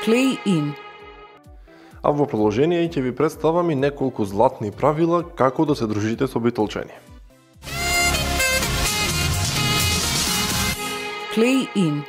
Play in. А во продолжение ќе ви представам и неколку златни правила како да се дружите со Битолчани. Play in.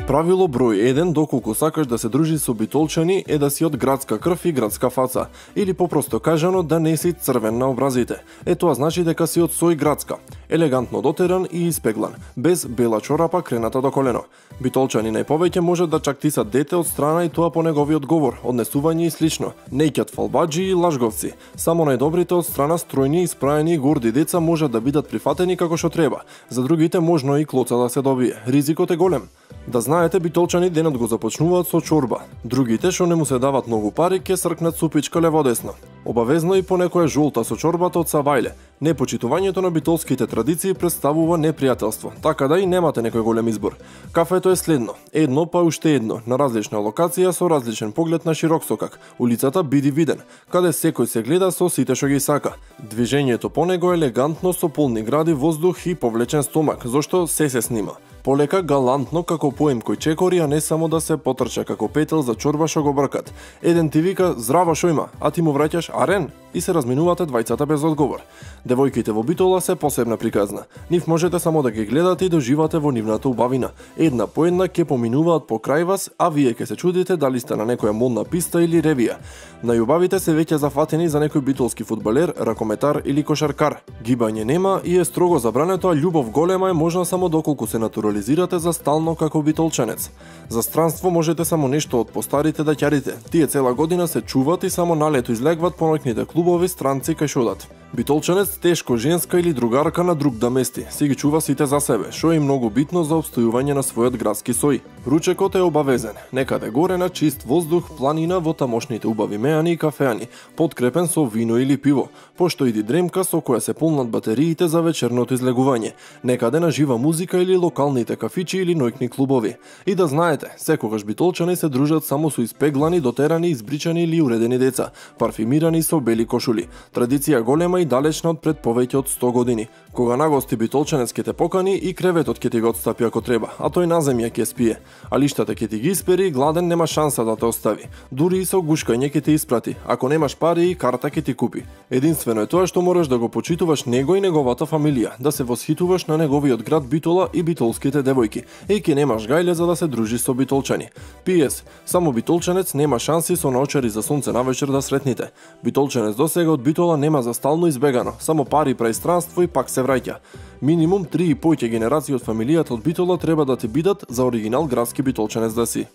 Правило број 1, доколку сакаш да се дружиш со Битолчани, е да си од градска крв и градска фаца, или попросто кажано да не си црвен на образите. Тоа значи дека си од сој градска, елегантно дотеран и испеглан, без бела чорапа крената до колено. Битолчани најповеќе може да чактисат дете од страна и тоа по неговиот говор, однесување и слично. Неќат фалбаджи и лажговци. Само најдобрите од страна стројни, испраени и горди деца можат да бидат прифатени како што треба. За другите можно и клоца да се добие. Ризикот е голем. Да знаете, Битолчани денот го започнуваат со чорба. Другите што не му се дават многу пари ќе сркнат супичка леводесно. Обавезно и понекоја жолта со чорбата од Сабајле. Непочитувањето на битолските традиции представува непријателство, така да и немате некој голем избор. Кафето е следно, едно па уште едно, на различна локација со различен поглед на широк сокак. Улицата биди виден, каде секој се гледа со сите што ги сака. Движењето по него е елегантно со полни гради воздух и повлечен стомак, зошто се снима. Полека галантно како поем кој чекори, а не само да се потрча како петел за чорба што го бркат. Еден ти вика здрава шо има, а ти му враќаш арен и се разминувате двајцата без одговор. Девојките во Битола се посебна приказна. Нив можете само да ги гледате и доживате во нивната убавина. Една по една ќе поминуваат покрај вас, а вие ќе се чудите дали сте на некоја модна писта или ревија. Најубавите се веќе зафатени за некој битолски фудбалер, ракометар или кошаркар. Гибање нема и е строго забрането, а љубов голема е можна само доколку се натурализирате за стално како битолчанец. За странство можете само нешто од постарите да ќарите. Тие цела година се чуваат и само на лето излегват по ноќните клубови странци кај шодат. Битолчанец тешко женска или другарка на друг да мести, си ги чува сите за себе, што е многу битно за обстојување на својот градски сој. Ручекот е обавезен, некаде горе на чист воздух, планина во тамошните убави меани и кафеани, подкрепен со вино или пиво, пошто иди дремка со која се полнат батериите за вечерното излегување, некаде на жива музика или локалните кафичи или ноќни клубови. И да знаете, секогаш битолчани се дружат само со испеглани, дотерани, избричани или уредени деца, парфимирани со бели кошули. Традиција голема и далечна од пред повеќе од 100 години. Кога нагости битолчанец ќе те покани и креветот ќе ти го отстапи ако треба, а тој на земја ќе спие. А лиштата ќе ти ги испери и гладен нема шанса да те остави. Дури и со гушкање ќе те испрати, ако немаш пари и карта ќе ти купи. Единствено е тоа што мораш да го почитуваш него и неговата фамилија, да се восхитуваш на неговиот град Битола и битолските девојки, и ќе немаш гајле за да се дружи со битолчани. П.С. Само битолчанец нема шанси со наочари за сонце навечер да сретните. Битолчанец досега од Битола нема за стално избегано, само пари прај странство и пак се враќа. Минимум 3 и поќе генерации од фамилијата од Битола треба да ти бидат за оригинал градски битолчанец да си.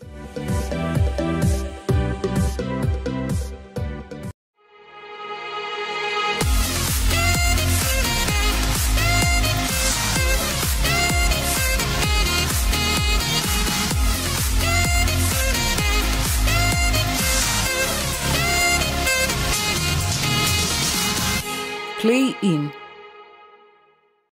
Play in.